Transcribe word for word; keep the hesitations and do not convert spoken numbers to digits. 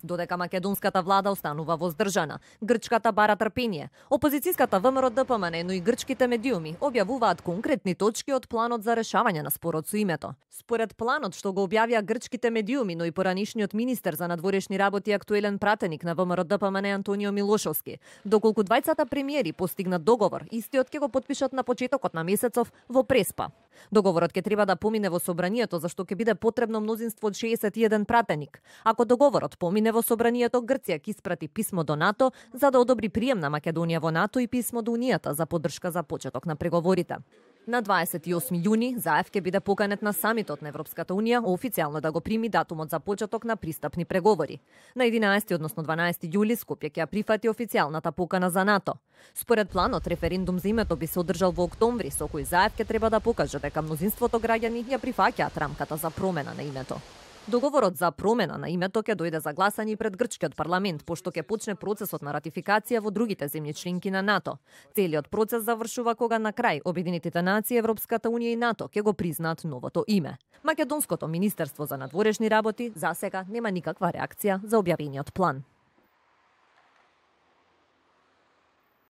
Додека македонската влада останува воздржана, грчката бара трпение. Опозицијската ВМРО Д П М Н, но и грчките медиуми објавуваат конкретни точки од планот за решавање на спорот со името. Според планот што го објавија грчките медиуми, но и поранишниот министер за надворешни работи и актуелен пратеник на ВМРО Д П М Н Антонио Милошовски, доколку двајцата премиери постигнат договор, истиот ќе го потпишат на почетокот на месецов во Преспа. Договорот ќе треба да помине во собранието, зашто ќе биде потребно мнозинство од шеесет и еден пратеник. Ако договорот помине во собранието, Грција ќе испрати писмо до НАТО за да одобри прием на Македонија во НАТО и писмо до Унијата за поддршка за почеток на преговорите. На дваесет и осми јуни Заев ќе биде поканет на самитот на Европската Унија официјално да го прими датумот за почеток на пристапни преговори. На единаесети, односно дванаесети јули Скопје ќе ја прифати официјалната покана за НАТО. Според планот, референдум за името би се одржал во октомври, со кој Заев ќе треба да покаже дека мнозинството граѓани ја прифаќаат рамката за промена на името. Договорот за промена на името ќе дојде за гласање пред грчкиот парламент, пошто ќе почне процесот на ратификација во другите земји членки на НАТО. Целиот процес завршува кога на крај Обединетите нации, Европската Унија и НАТО ќе го признаат новото име. Македонското министерство за надворешни работи за сега нема никаква реакција за објавениот план.